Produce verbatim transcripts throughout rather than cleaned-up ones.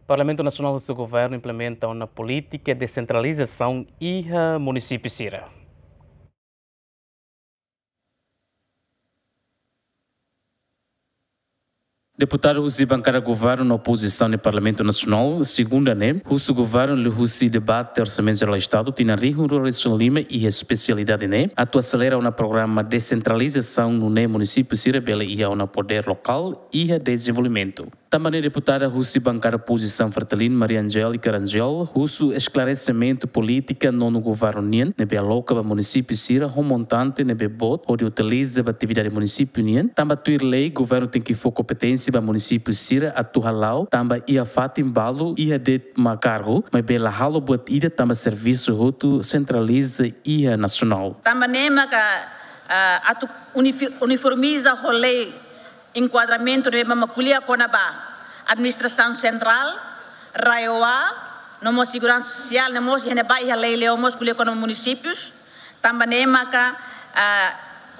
Parlamentu Nasionál husu governu implementa ona polítika desentralizasaun iha munisípiu sira. Deputadu husi bankada governu no opozisaun iha Parlamentu Nasionál, segunda ne'e, husu governu liuhusi debate Orsamentu Jerál Estadu tinan rihun rua resin lima iha espesialidade ne'e, atu aselera ona programa desentralizasaun nune'e munisípiu sira bele iha ona podér lokál iha dezenvolvimentu. Tanba ne'e deputada husi bankada opozisaun Fretilin, Maria Angélica Rangel, husu esklaresimentu polítika nonu governu nian ne'ebé aloka ba munisípiu sira ho montante ne'ebé boot hodi utiliza ba atividade munisípiu nian, tanba tuir lei governu tenke fó kompeténsia ba munisípiu sira atu hala'o, tanba iha fatin balu iha de'it mak kargu, maibé la halo buat ida tanba servisu hotu sentraliza iha nasionál. Tanba ne'e maka, ah, atu unifi-, uniformiza ho lei enkuadramentu ne'ebé mak ko'alia kona-ba administrasaun sentrál, RAEOA, no mós seguransa sosiál, ne'e mós iha ne'ebá iha lei liu mós ko'alia kona-ba munisípius, tanba ne'e maka, ah,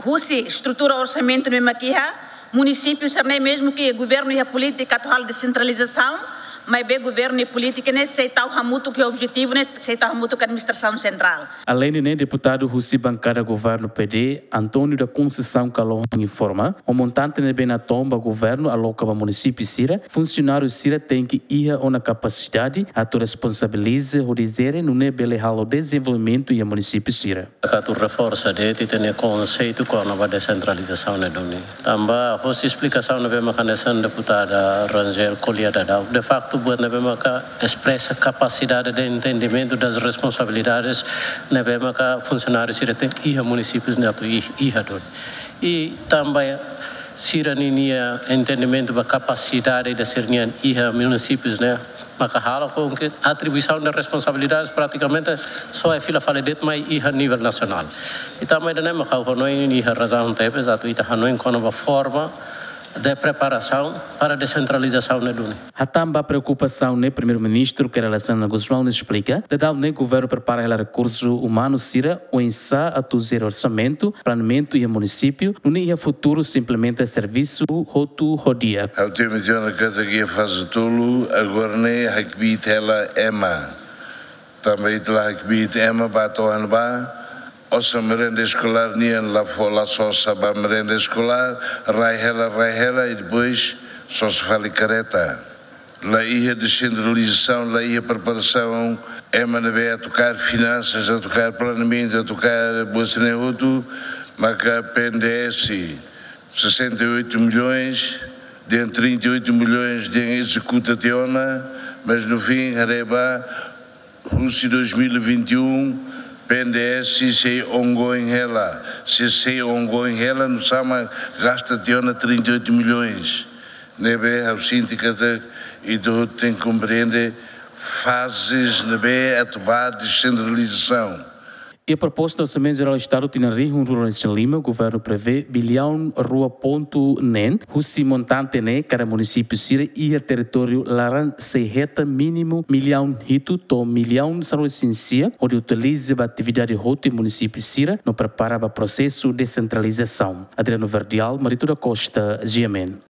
husi estrutura orsamentu ne'ebé mak iha, munisípiu sira-ne'e mezmu ke governu iha polítika atu halo desentralizasaun, maibé governu iha polítika ne'e sei tau hamutuk ho objetivu ne'e, sei tau hamutuk ho administrasaun sentrál. Aleinde ne'e, deputadu husi bankada governu P D, António da Conceição Calon informa, ho montante ne'ebé natoon ba governu aloka ba munisípiu sira, funsionáriu sira tenke iha ona kapasidade atu responsabiliza hodi jere nune'e bele halo dezenvolvimentu iha munisípiu sira. Atu reforsa de'it ita-nia konseitu kona-ba desentralizasaun ne'e duni. Tanba hosi esplikasaun ne'ebé maka hanesan deputada Rangel ko'alia daudaun. De facto, buat ne'ebé maka espresa kapasidade de entendimentu das responsabilidades ne'ebé maka funsionáriu sira tenke iha munisípius ne'e atu i-, iha duni. I tanba sira ninia entendimentu ba kapasidade ida sira-nian iha munisípius ne'e maka halo com que atribuição de responsabilidades praticamente só é fila fali de'it mai iha nivel nasionál. I tanba ida-ne'e maka ha'u hanoin iha razaun tebes atu ita hanoin kona-ba forma de preparasaun para desentralizasaun ne'e duni. Hatán ba preokupasaun ne'e, Primeiru-Ministru Kay Rala Xanana Gusmão esplika, daudaun ne'e governu prepara hela rekursu umanu sira oinsá atu jere orsamentu, planeamentu iha munisípiu, nune'e iha futuru sei implementa servisu hotu ho di'ak. Ha'u temi tiha ona katak iha faze tolu, agora ne'e hakbiit hela ema. Tanba ita la hakbiit ema ba to'o iha ne'ebá, osan merenda eskolár nian la fó, la sosa ba merenda eskolár, rai hela, rai hela, i depois sosa fali kareta. La iha desentralizasaun, la iha preparasaun, ema ne'ebé atu kaer finansas, atu kaer planeamentu, atu kaer buat sira-ne'e hotu, maka P N D S, sessenta e oito milhões, dehan trinta e oito milhões dehan ezekuta tiha ona, mas no fim, haree ba, husi dois mil e vinte e um, P N D S sei ongoing hela, se sei ongoing hela, nusá mak gasta tiha ona trinta e oito milhões. Ne'ebé ha'u sente katak ita hotu tenke komprende fazes ne'ebé atu ba desentralizasaun. Iha proposta Orsamentu Jerál Estadu tinan rihun rua resin lima, governu prevee biliaun rua pontu neen, husi montante ne'e kada munisípiu sira iha territóriu laran sei hetan mínimu miliaun hitu to'o miliaun sanulu resin sia, hodi utiliza ba atividade hotu iha munisípiu sira, no prepara ba prosesu desentralizasaun. Adriano Verdial, Marito da Costa, G M N.